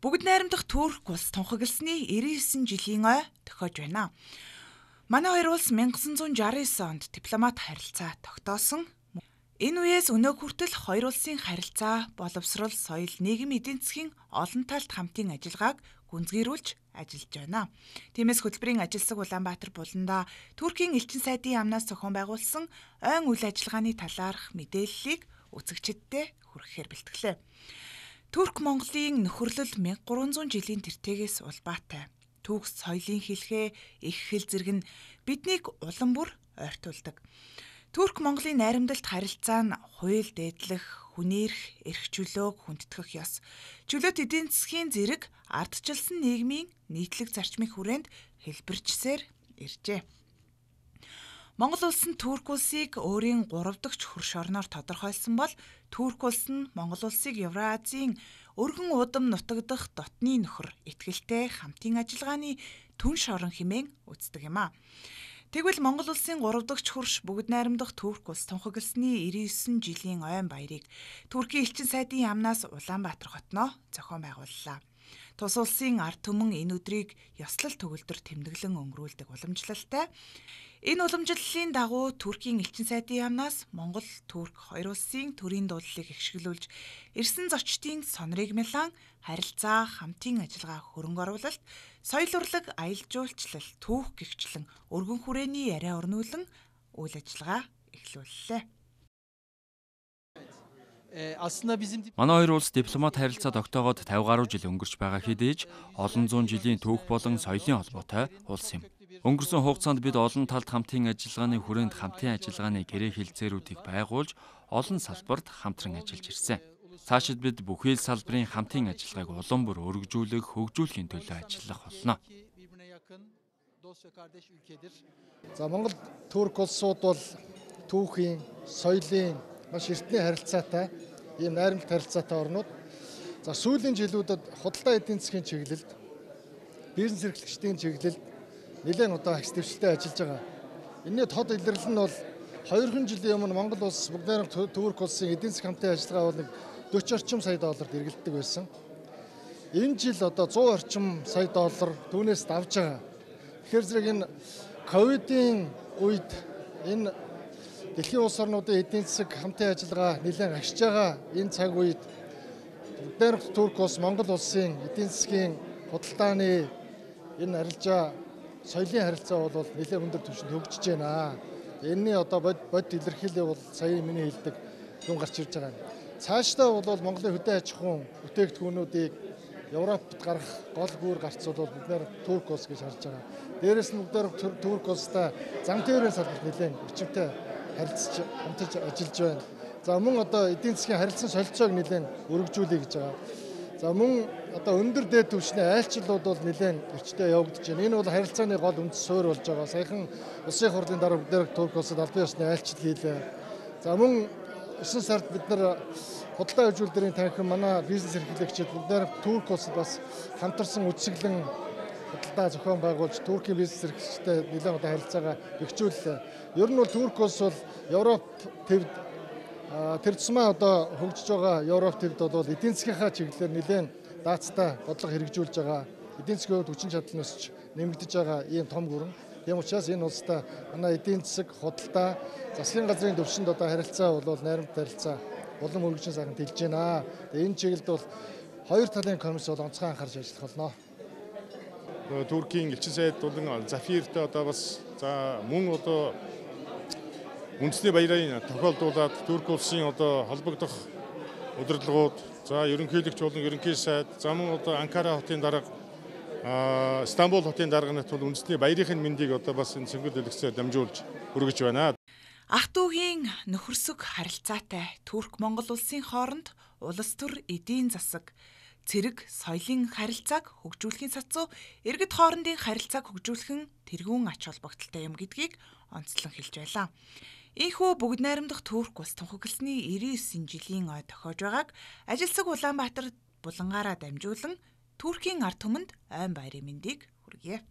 Бүгд найрамдах Турк улс тунхагласны 99 жилийн ой тохиож байна. Манай хоёр улс 1969 онд дипломат харилцаа тогтоосон. Энэ үеэс өнөө хүртэл хоёр улсын харилцаа, боловсрол, соёл, нийгэм эдийн засгийн олон талт хамтын ажиллагааг гүнзгийрүүлж ажиллаж байна. Тиймээс хөтөлбөрийн ажилсаг Улаанбаатар буланда Туркийн элчин сайдын яамнаас зохион байгуулсан ойн үйл ажиллагааны талаарх мэдээллийг үзэгчдэд хүргэхээр бэлтгэлээ. Турк Монголын нөхөрлөл 1300 жилийн тэртегээс улбаатай. Түүх соёлын хэлхээ, их хэл зэрэг нь биднийг улам бүр ойртуулдаг. Турк Монголын найрамдалт харилцаа нь хууль дээдлэх, хүнээрх, эрх чөлөөг хүндэтгэх ёс. Чөлөөт эдийн засгийн зэрэг ардчилсан нийгмийн нийтлэг зарчмын хүрээнд хэлбэрчсээр иржээ. Монгол улс нь Турк улсыг өөрийн 3 дахь хөрш орноор тодорхойлсон бол Турк улс нь Монгол улсыг Евразийн өргөн удам нутагдах дотны нөхөр итгэлтэй хамтын ажиллагааны түнш орон хэмээн үздэг юм а. Тэгвэл Монгол улсын 3 дахь хөрш бүгд найрамдах Турк улс тунхагласны 99 жилийн ойн баярыг Туркийн элчин сайдын яамнаас Улаанбаатар хотноо зохион байгууллаа. Тус улсын ард түмэн энэ өдрийг ёслол төгөлдөр тэмдэглэн өнгөрүүлдэг уламжлалтай. Энэ уламжлалын дагуу Туркийн элчин сайдын яамнаас Монгол, Турк хоёр улсын төрийн дуудлалыг ихшгэлүүлж, ирсэн зочдын сонорыг мэлан харилцаа, хамтын ажиллагаа хөрөнгө оруулалт, соёл урлаг, аялал жуулчлал, түүх гэгчлэн өргөн хүрээний яриа өрнүүлэн үйл ажиллагаа эхлүүллээ. Манай хоёр улс дипломат харилцаа тогтоогоод 50 гаруй жил өнгөрч байгаа хэдий ч олон зуун жилийн түүх болон соёлын холбоотой улс юм. Өнгөрсөн хугацаанд бид олон талт хамтын ажиллагааны хүрээнд хамтын ажиллагааны гэрээ хэлцээрүүдийг байгуулж олон салбарт хамтран ажиллаж ирсэн. Цаашид бид бүхий л салбарын хамтын ажиллагааг улам бүр өргөжүүлэх, хөгжүүлэхийн төлөө ажиллах болно. За Монгол Турк улсууд бол түүхийн, соёлын маш эртний харилцаатай ийм найрамдалт харилцаатай орнууд. За сүүлийн жилүүдэд худалдаа эдийн засгийн чиглэлд, бизнес эрхлэгчдийн чиглэлд нэлээд агс дэвшилтэй ажиллаж байгаа. Энэний тод илэрлэл нь бол 2 жилийн өмнө Монгол улс бүгд найрамдах Турк улсын эдийн засгийн хамтын ажиллагаа бол 40 орчим сая долларт эргэлддэг байсан. Энэ жил 100 орчим сая доллар түүнээс давж байгаа. Тэгэхээр зэрэг энэ ковидын үед энэ дэлхийн улс орнуудын эдийн засаг хамтын ажиллагаа нэлээд агшиж байгаа энэ цаг үед бүгд найрамдах Турк улс Монгол улсын эдийн засгийн худалдааны энэ арилжаа соёлын харилцаа бол нэлээд өндөр түвшинд хөгжиж байна. Энэний бод илэрхийлэл бол сая миний хэлдэг юм гарч ирж байгаа. Цаашдаа бол Монголын хөдөө аж ахуйн бүтээгдэхүүнүүдийг Европт гарах гол бүр гарцуул бид нэр Турк улс гэж харж байгаа. Дээрээс нь бүгд Турк улстай зам тээврийн салбарт нэлээд өчмтэй харилцаж хамтарч ажиллаж байна. За мөн эдийн засгийн харилцан солилцоог нэлээд өргөжүүлэе гэж байгаа. За мөн өндөр дээд түвшний айлчлалууд бол нэлээд эрчтэй явагдаж байна. Энэ бол харилцааны гол үндэс суурь болж байгаа. Саяхан улсын хурлын дараа бүгд Турк улсад албан ёсны айлчлал хийлээ. За мөн 9 сард бид нар худалдаа хөгжүүлэлтийн танхим манай бизнес эрхлэгчид бүгд Турк улсад бас хамтарсан үсгэлэн худалдаа зохион байгуулж Туркийн бизнес эрхлэгчтэй нэлээд харилцаагаа бэхжүүллээ. Ер нь бол Турк улс бол Европ төвд тэр тусмаа хөгжиж байгаа Европ төвд бол эдийн засгийнхаа чиглэлээр нэлээд даацтай бодлого хэрэгжүүлж байгаа. Эдийн засгийн хүчин чадал нь өсч нэмэгдэж байгаа ийм том гүрэн. Тийм учраас энэ улстай манай эдийн засаг, худалдаа, засгийн газрын төвшөнд харилцаа бол найрамдалт харилцаа улам өргөжин сайхан тэлж байна. Энэ чиглэлд бол хоёр талын комисс бол онцгой анхаарч ажиллах болно. Туркийн элчин сайд болон Зафиртэй бас за мөн үндэсний баярын тохиолдуулаад Турк улсын холбогдох удирдлагууд, за ерөнхийлөгч болон ерөнхий сайд, за мөн Анкара хотын дарга, Стамбул хотын дарганат бол үндэсний баярын мэндийг бас энэ цэнгэл дэлгэцээр дамжуулж өргөж байна. Ах дүүгийн нөхөрсөг харилцаатай Турк-Монгол улсын хооронд улс төр эдийн засаг, цэрэг, соёлын харилцааг хөгжүүлэхийн сацуу иргэд хоорондын харилцааг хөгжүүлэх нь тэргүүн ач холбогдолтой юм гэдгийг онцлон хэлж байлаа. Ийхүү бүгд найрамдах Турк улс тунхагласны 99 жилийн ой тохиож байгааг ажилсаг Улаанбаатар булангаараа дамжуулан Туркийн ард түмэнд ойн баярын мэндийг хүргэе.